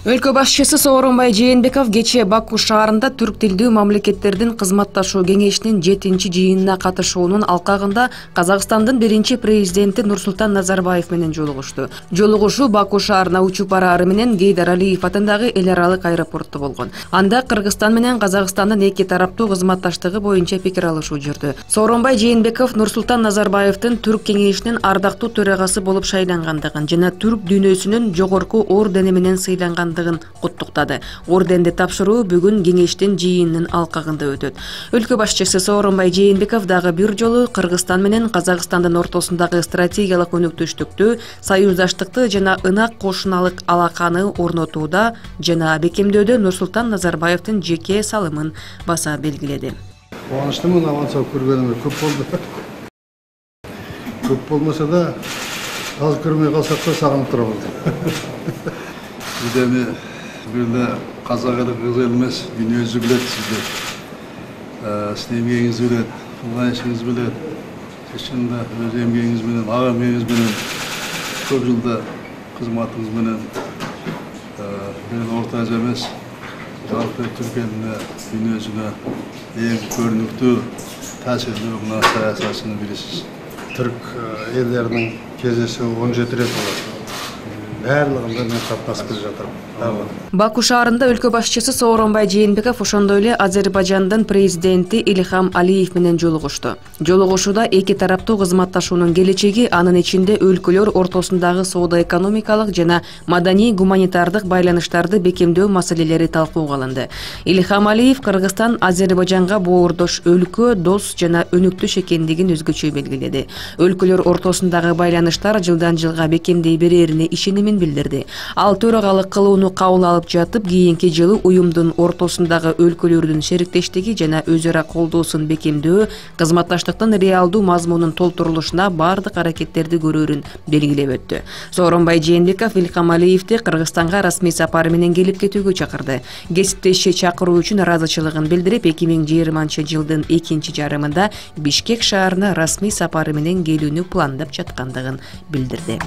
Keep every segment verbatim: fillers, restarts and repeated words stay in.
Өлкө башчысы Сооронбай Жээнбеков кечээ Баку шаарында түрк тилдүү мамлекеттердин кызматташуу кеңешинин жетинчи жыйынына катышуунун алкагында Казакстандын биринчи президенти Нурсултан Назарбаев менен жолугушту. Жолугушуу Баку шаарына учуп бараары менен Гейдар Алиев атындагы эл аралык аэропортто болгон. Анда Кыргызстан менен Казакстандын эки тараптуу кызматташтыгы боюнча пикир алышуу жүрдү. Сооронбай Жээнбеков Нурсултан Назарбаевдин түрк кеңешинин ардактуу төрагасы болуп шайлангандыгын жана түрк дүйнөсүнүн жогорку ордени менен сыйланган куттуктады. Орденди тапшыруу бүгүн кеңештин жыйынынын алкагында өтөт. Өлкө башчысы Сооронбай Жээнбеков дагы бир жолу Кыргызстан менен Казакстандын ортосундагы стратегиялык өнөктөштүктү, союздаштыкты жана ынак кошуналык алаканы орнотууда жана бекемдөөдө Нурсултан Назарбаевдин жеке салымын баса белгиледи. Кубанычтымын, авансап көргөнүмө көп болду. Көп болмаса да, аз көрмөй калсак да сагынып турабыз. Эми бирде казак эли кыргыз эли эмес, дүйнөсү билет сизди. Сиздин эмгегиңиз билет, кылган ишиңиз билет. Чынында өз эмгегиңиз менен, ага эмгегиңиз менен, көп жылда кызматыңыз менен бир Орто Азия эмес, жалпы түрк элине, дүйнөсүнө эң көрүнүктүү, таасирлүү мына саясатчынын бирисиз. Түрк элдеринин кездешүү он жети рет болот. Барлыгында мен катнашып келе жатырмын. Баку шаарында өлкө башчысы Сооронбай Жээнбеков ошондой эле Азербайжандын президенти Ильхам Алиев менен жолугушту. Жолугушууда эки тараптуу кызматташуунун келечеги, анын ичинде өлкөлөр ортосундагы соода-экономикалык жана маданий-гуманитардык байланыштарды бекемдөө маселелери талкууга алынды. Ильхам Алиев Кыргызстан Азербайжанга боордош өлкө, дос жана өнүктүш экендигин өзгөчө белгиледи. Өлкөлөр ортосундагы байланыштар жылдан жылга бекемдей берерине ишенимин билдирди. Ал төрагалык кылууну кабыл алып жатып, кийинки жылы уюмдун ортосундагы өлкөлөрдүн шериктештиги жана өз ара колдоосун бекемдөө, кызматташтыктын реалдуу мазмунун толтурулушуна бардык аракеттерди көрөрүн белгилеп өттү. Сооронбай Жээнбеков Ильхам Алиевди Кыргызстанга расмий сапары менен келип кетүүгө чакырды. Кесиптеши чакыруу үчүн ыраазычылыгын билдирип, эки миң жыйырманчы жылдын экинчи жарымында Бишкек шаарына расмий сапары менен келүүнү пландап жаткандыгын билдирди.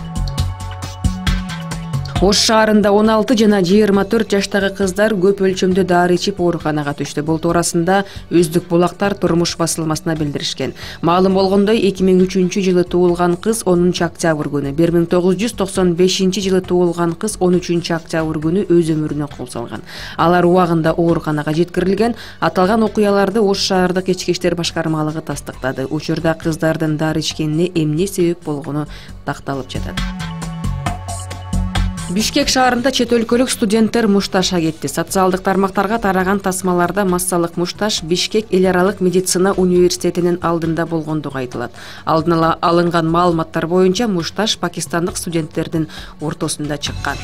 Ош шаарында он алты жана жыйырма төрт жаштагы кыздар көп өлчөмдө дары ичип ооруканага түштү. Бул туурасында Өздүк булактар турмуш басылмасына билдиришкен. Маалым болгондой, эки миң үчүнчү жылы туулган кыз онунчу октябрь күнү, бир миң тогуз жүз токсон бешинчи жылы туулган кыз он үчүнчү октябрь күнү өз өмүрүнө кол салган. Алар убагында ооруканага жеткирилген. Аталган окуяларды Ош шаардык ички иштер башкармалыгы тастыктады. Учурда кыздардын дары ичкенине эмне себеп болгону такталып жатат. Бишкек шаарында чет өлкөлүк студенттер мушташка кетти. Социалдык тармактарга тараган тасмаларда массалык мушташ Бишкек эл аралык медицина университетинин алдында болгондугу айтылат. Алдын ала алынган маалыматтар боюнча мушташ пакистандык студенттердин ортосунда чыккан.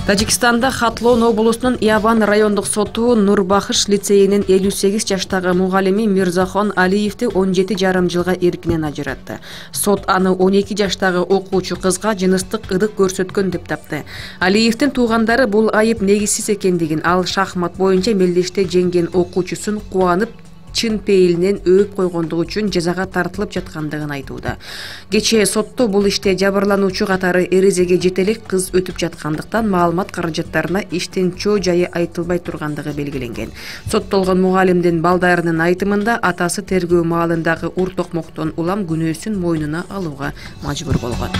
Тажикстанда Хатлон облусунун Ябан райондук соту Нурбахыш лицейинин элүү сегиз жаштагы мугалими Мирзахон Алиевди он жети жарым жылга эркинен ажыратты. Сот аны он эки жаштагы окуучу кызга жыныстык ыдык көрсөткөн деп тапты. Алиевдин туугандары бул айып негизсиз экендигин, ал шахмат боюнча мелдеште жеңген окуучусун кубанып чын пейилинен өөп койгондугу үчүн жазага тартылып жаткандыгын айтууда. Кечээ сотто бул иште жабырлануучу катары эрезеге жетелик кыз өтүп жаткандыктан маалымат каражаттарына иштин чоо жайы айтылбай тургандыгы белгиленген. Соттолгон мугалимдин балдарынын айтымында атасы тергөө маалындагы ур токмоктон улам күнөөсүн мойнуна алууга мажбур болгон.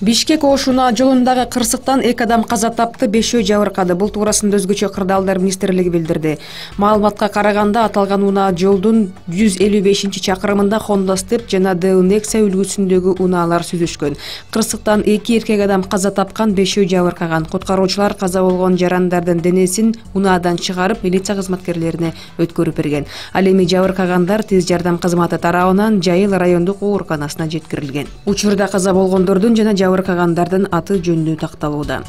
Бишкек Ошуна жолундагы кырсыктан эки адам каза тапты, бешөө жабыркады. Бул туурасында өзгөчө кырдаалдар министрлиги билдирди. Маалыматка караганда, аталган унаа жолдун жүз элүү бешинчи чакырымында Honda Step жана Dell Nexia үлгүсүндөгү унаалар сүзүшкөн. Кырсыктан эки эркек адам каза тапкан, бешөө жабыркаган. Куткаруучулар каза болгон жарандардын денесин унаадан чыгарып, милиция кызматкерлерине өткөрүп берген. Ал эми жабыркагандар тез жардам кызматы тарабынан Жайыл райондук ооруканасына жеткирилген. Учурда каза болгондордун жана жабыркагандардын аты жөнү такталууда.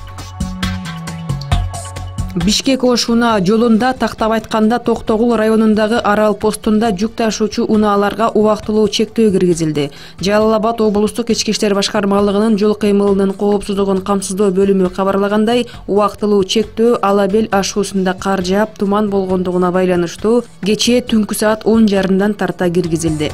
Бишкек Ошуна жолунда, тактап айтканда, Токтогул районундагы Арал постунда жүк ташуучу унааларга убактылуу чектөө киргизилди. Жалал Абад облустук ички иштер башкармалыгынын жол кыймылынын коопсуздугун камсыздоо бөлүмү кабарлагандай, убактылуу чектөө Ала Бел ашуусунда кар жаап, туман болгондугуна байланыштуу кечээ түнкү саат он жарымдан тарта киргизилди.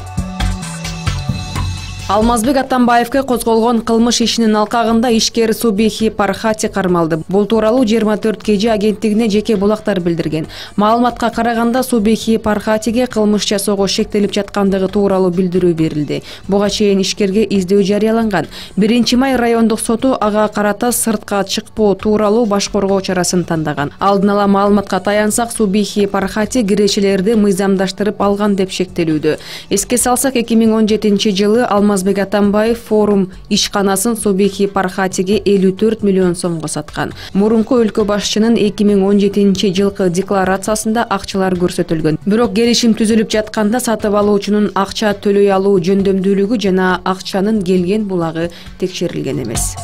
Алмазбек Атамбаевке козголгон кылмыш ишинин алкагында ишкер Субихи Пархати кармалды. Бул тууралуу жыйырма төрт кей же агенттигине жеке булактар билдирген. Маалыматка караганда Субихи Пархатиге кылмыш жасоого шектелип жаткандыгы тууралуу билдирүү берилди. Буга чейин ишкерге издөө жарыяланган. биринчи май райондук соту ага карата сыртка чыкпоо тууралуу баш коргоо чарасын тандаган. Алдын ала маалыматка таянсак, Субихи Пархати кирешелерди мыйзамдаштырып алган деп шектелүүдө. Эске салсак, эки миң он жетинчи жылы Алмазбек Атамбаев форум ишканасын Субихи Пархатиге элүү төрт миллион сомго саткан. Мурунку өлкө башчынын эки миң он жетинчи жылкы декларациясында акчалар көрсөтүлгөн. Бирок келишим түзүлүп жатканда сатып алуучунун акча төлөй алуу жөндөмдүүлүгү жана акчанын келген булагы текшерилген эмес.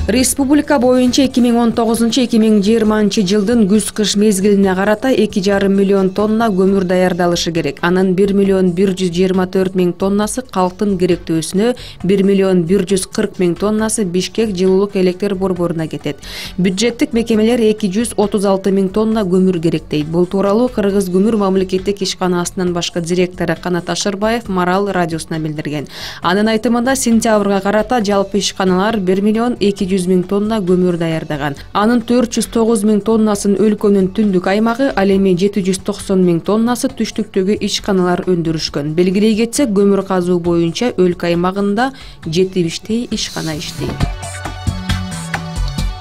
Республика боюнча эки миң он тогузунчу — эки миң жыйырманчы жылдын күз-кыш мезгилине карата эки жарым миллион тонна көмүр даярдалышы керек. Анын бир миллион бир жүз жыйырма төрт миң тоннасы калктын керектөөсүнө, бир миллион бир жүз кырк миң тоннасы Бишкек жылуулук электр борборуна кетет. Бюджеттик мекемелер эки жүз отуз алты миң тонна көмүр керектейт. Бул тууралуу Кыргыз көмүр мамлекеттик ишканасынын башкы директору Канат Ашырбаев Марал радиосуна билдирген. Анын айтымында сентябрга карата жалпы ишканалар бир миллион эки жүз миң тонна көмүр даярдаган. Анын төрт жүз тогуз миң тоннасын өлкөнүн түндүк аймагы, ал эми жети жүз токсон миң тоннасы түштүктөгү ишканалар өндүрүшкөн. Белгилей кетсек, көмүр казуу боюнча өлкө аймагында жетимиштей ишкана иштейт.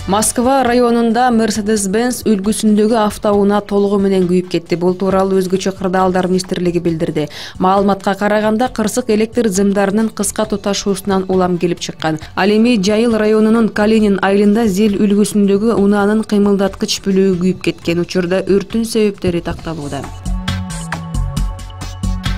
Москва районунда Mercedes-Benz үлгүсүндөгү автоунаа толугу менен күйүп кетти. Бул тууралуу Өзгөчө кырдаалдар министрлиги билдирди. Маалыматка караганда кырсык электр зымдарынын кыска туташуусунан улам келип чыккан. Ал эми Жайыл районунун Калинин айылында Зел үлгүсүндөгү унаанын кыймылдаткыч бүлүгү күйүп кеткен. Учурда өрттүн себептери такталууда.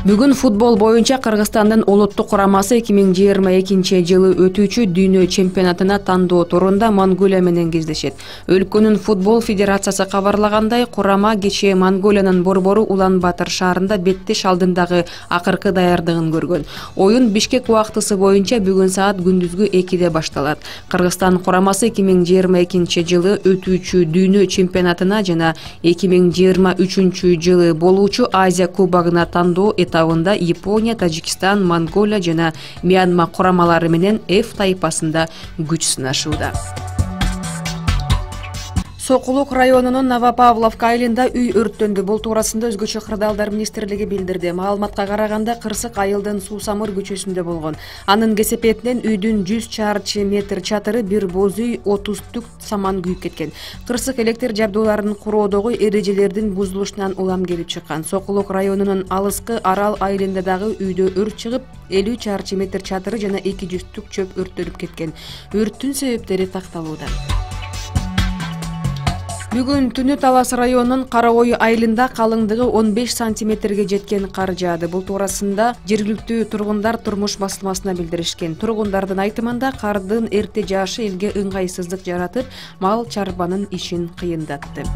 Бүгүн футбол боюнча Кыргызстандын улуттук курамасы эки миң жыйырма экинчи жылы өтүүчү дүйнө чемпионатына тандоо турунда Монголия менен кездешет. Өлкөнүн футбол федерациясы кабарлагандай, курама кечээ Монголиянын борбору Улан-Батыр шаарында беттеш алдындагы акыркы даярдыгын көргөн. Оюн Бишкек убактысы боюнча бүгүн саат күндүзгү экиде башталат. Кыргызстан курамасы эки миң жыйырма экинчи жылы өтүүчү дүйнө чемпионатына жана эки миң жыйырма үчүнчү жылы болуучу Азия кубогуна тандоо этабында Япония, Тажикстан, Монголия жана Мьянма курамалары менен F тайпасында күч сынашууда. Сокулук районунун Новопавловка айылында үй өрттөндү. Бул туурасында Өзгөчө кырдаалдар министрлиги билдирди. Маалыматка караганда кырсык айылдын Суусамыр көчөсүндө болгон. Анын кесепетинен үйдүн жүз чарчы метр чатыры, бир боз үй, отуз түк саман күйүп кеткен. Кырсык электр жабдууларын куроодогу эрежелердин бузулушунан улам келип чыккан. Сокулук районунун алыскы Арал айылында дагы үйдө өрт чыгып, элүү чарчы метр чатыры жана эки жүз түк чөп өрттөнүп кеткен. Өрттүн себептери такталууда. Бүгүн түнү Талас районунун Кара Ой айылында калыңдыгы он беш сантиметрге жеткен кар жаады. Бул туурасында жергиликтүү тургундар турмуш басылмасына билдиришкен. Тургундардын айтымында кардын эрте жаашы элге ыңгайсыздык жаратып, мал чарбанын ишин кыйындатты.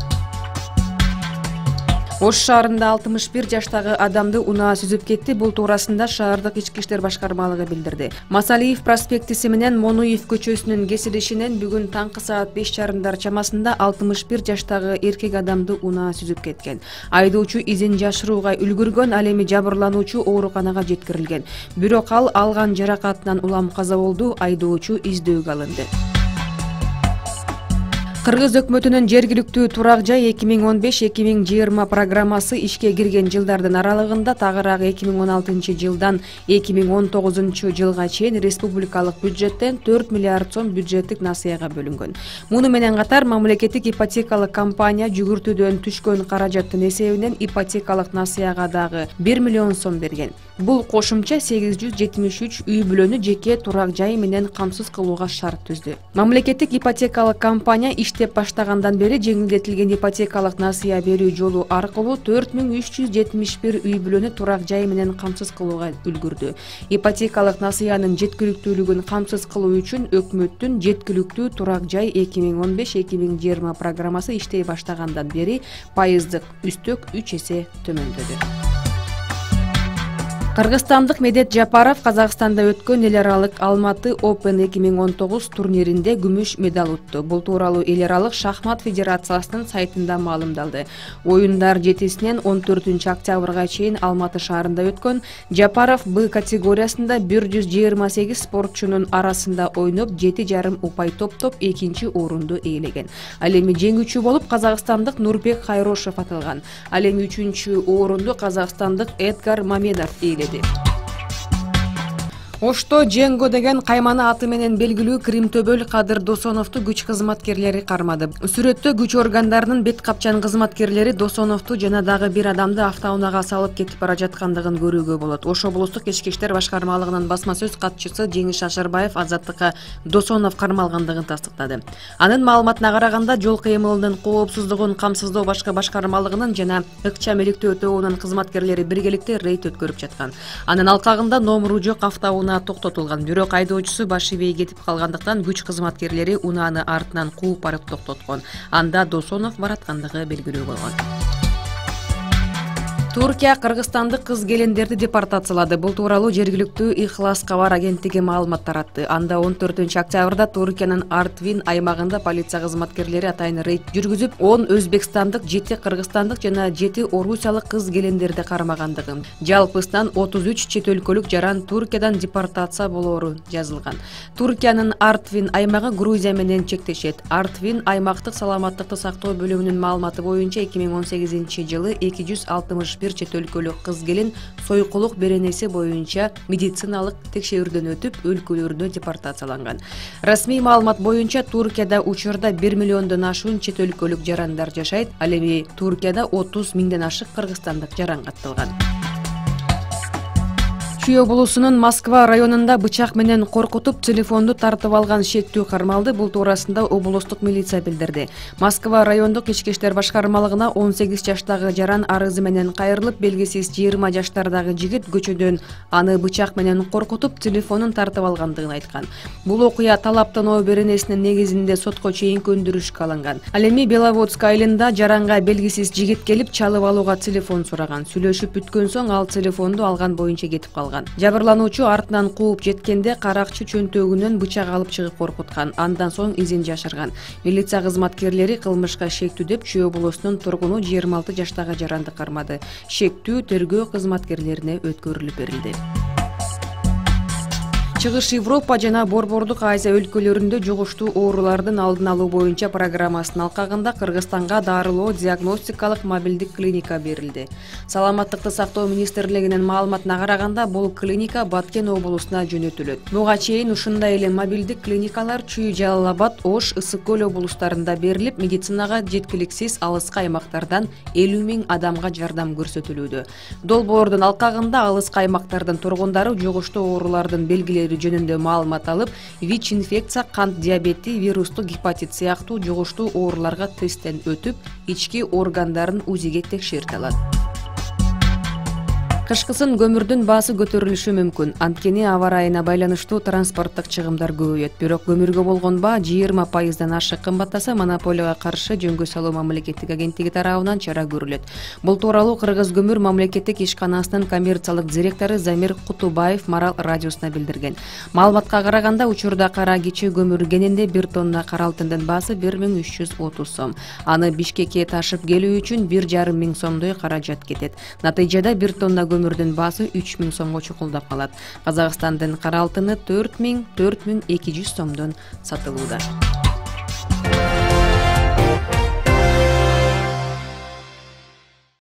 Ош шаарында алтымыш бир жаштагы адамды унаа сүзүп кетти. Бул туурасында шаардык ички иштер башкармалыгы билдирди. Масалиев проспектиси менен Монуев көчөсүнүн кесилишинен бүгүн таңкы саат беш жарымдар чамасында алтымыш бир жаштагы эркек адамды унаа сүзүп кеткен. Айдоочу изин жашырууга үлгүргөн, ал эми жабырлануучу ооруканага жеткирилген. Бирок ал алган жаракатынан улам каза болду. Айдоочу издөөгө алынды. Кыргыз өкмөтүнүн жергиликтүү турак жай эки миң он беш — эки миң жыйырма программасы ишке кирген жылдардын аралыгында тагыраагы эки миң он алтынчы жылдан эки миң он тогузунчу жылга чейин республикалык бюджеттен төрт миллиард сом бюджеттик насыяга бөлүнгөн. Муну менен катар мамлекеттик ипотекалык компания жүгүртүүдөн түшкөн каражаттын эсебинен ипотекалык насыяга дагы бир миллион сом берген. Бул кошумча сегиз жүз жетимиш үч үй бүлөнү жеке турак жай менен камсыз кылууга шарт түздү. Мамлекеттик ипотекалык компания иштеп баштагандан бери жеңилдетилген ипотекалык насыя берүү жолу аркылуу төрт миң үч жүз жетимиш бир үй бүлөнү турак жай менен камсыз кылууга үлгүрдү. Ипотекалык насыянын жеткиликтүүлүгүн камсыз кылуу үчүн өкмөттүн жеткиликтүү турак жай эки миң он беш — эки миң жыйырма программасы иштей баштагандан бери пайыздык үстөк үч эсе төмөндөдү. Кыргызстандык Медет Жапаров Казакстанда өткөн эл аралык Алматы Open эки миң он тогуз турниринде күмүш медаль утту. Бул тууралуу эл аралык шахмат федерациясынын сайтында маалымдалды. Оюндар жетисинен он төртүнчү октябрга чейин Алматы шаарында өткөн. Жапаров Б категориясында бир жүз жыйырма сегиз спортчунун арасында ойноп жети жарым упай топтоп экинчи орунду ээлеген. Ал эми жеңүүчү болуп казакстандык Нурбек Хайрошев аталган. Ал эми үчүнчү орунду казакстандык Эдгар Мамедов ээледи. Ошто Дженго деген каймана аты менен белгилүү Кримтөбөл Кадыр Досоновду күч кызматкерлери кармады. Сүрөттө күч органдарынын бет капчан кызматкерлери Досоновду жана дагы бир адамды автоунаага салып кетип бара жаткандыгын көрүүгө болот. Ош облустук ички иштер башкармалыгынын басма сөз катчысы Жеңиш Шашарбаев Азаттыкка Досонов кармалгандыгын тастыктады. Анын маалыматына караганда, жол кыймылынын коопсуздугун камсыздоо башкы башкармалыгынын жана ыкчам иликтөө өтөөнүн кызматкерлери биргеликте рейд өткөрүп жаткан. Анын алкагында номуру жок автоунаа токтотулган. Бирок айдоочусу баш ийбей кетип калгандыктан күч кызматкерлери унааны артынан кууп барып токтоткон. Анда Досонов бараткандыгы белгилүү болгон. Туркия кыргызстандык кыз келиндерди депортациялады. Бул тууралуу жергиликтүү Ихлас кабар агенттиги маалымат таратты. Анда он төртүнчү октябрда Туркиянын Артвин аймагында полиция кызматкерлери атайын рейд жүргүзүп, он өзбекстандык, жети кыргызстандык жана жети орусиялык кыз келиндерди кармагандыгы. Жалпысынан отуз үч чет өлкөлүк жаран Туркиядан депортация болоору жазылган. Туркиянын Артвин аймагы Грузия менен чектешет. Артвин аймактык саламаттыкты сактоо бөлүмүнүн маалыматы боюнча эки миң он сегизинчи жылы эки жүз алтымыш бир чет өлкөлүк кыз келин сойкулук беренеси боюнча медициналык текшерүүдөн өтүп, өлкөлөрүнө депортацияланган. Расмий маалымат боюнча Туркияда учурда бир миллиондон ашуун чет өлкөлүк жарандар жашайт. Ал эми Туркияда отуз миңден ашык кыргызстандык жаран катталган. Чүй облусунун Москва районунда бычак менен коркутуп телефонду тартып алган шектүү кармалды. Бул туурасында облустук милиция билдирди. Москва райондук ички иштер башкармалыгына он сегиз жаштагы жаран арызы менен кайрылып, белгисиз жыйырма жаштардагы жигит көчөдөн аны бычак менен коркутуп телефонун тартып алгандыгын айткан. Бул окуя талаптануу беренесинин негизинде сотко чейинки өндүрүшкө алынган. Ал эми Беловодск айылында жаранга белгисиз жигит келип чалып алууга телефон сураган. Сүйлөшүп бүткөн соң ал телефонду алган боюнча кетип калган. Жабырлануучу артынан кууп жеткенде каракчы чөнтөгүнөн бычак алып чыгып коркуткан. Андан соң изин жашырган. Милиция кызматкерлери кылмышка шектүү деп Чүй облусунун тургуну жыйырма алты жаштагы жаранды кармады. Шектүү тергөө кызматкерлерине өткөрүлүп берилди. Чыгыш Европа жана Борбордук Азия өлкөлөрүндө жугуштуу оорулардын алдын алуу боюнча программасынын алкагында Кыргызстанга дарылоо диагностикалык мобилдик клиника берилди. Саламаттыкты сактоо министрлигинин маалыматына караганда, бул клиника Баткен облусуна жөнөтүлөт. Буга чейин ушундай эле мобилдик клиникалар Чүй, Жалал Абад, Ош, Ысык көл облустарында берилип, медицинага жеткиликсиз алыскы аймактардан элүү миң адамга жардам көрсөтүлүүдө. Долбоордун алкагында алыскы аймактардын тургундары жугуштуу оорулардын белгилери жөнүндө маалымат алып, ВИЧ инфекция, кант диабети, вирустук гепатит сыяктуу жугуштуу ооруларга тесттен өтүп, ички органдарын УЗИге текшерте алат. Кышкысын көмүрдүн баасы көтөрүлүшү мүмкүн. Анткени аба ырайына байланыштуу транспорттук чыгымдар көбөйөт. Бирок көмүргө болгон баа жыйырма пайыздан ашык кымбаттаса, монополияга каршы жөнгө салуу мамлекеттик агенттиги тарабынан чара көрүлөт. Бул тууралуу Кыргыз көмүр мамлекеттик ишканасынын коммерциялык директору Замир Кутубаев Марал радиосуна билдирген. Маалыматка караганда, учурда кара кичи көмүр кенинде бир тонна кара алтындын баасы бир миң үч жүз отуз сом. Аны Бишкекке ташып келүү үчүн бир жарым миң сомдой каражат кетет. Натыйжада бир тонна көмүрдүн баасы үч миң сомго чукулдап калат. Казакстандын кара алтыны төрт миң төрт миң эки жүз сомдон сатылууда.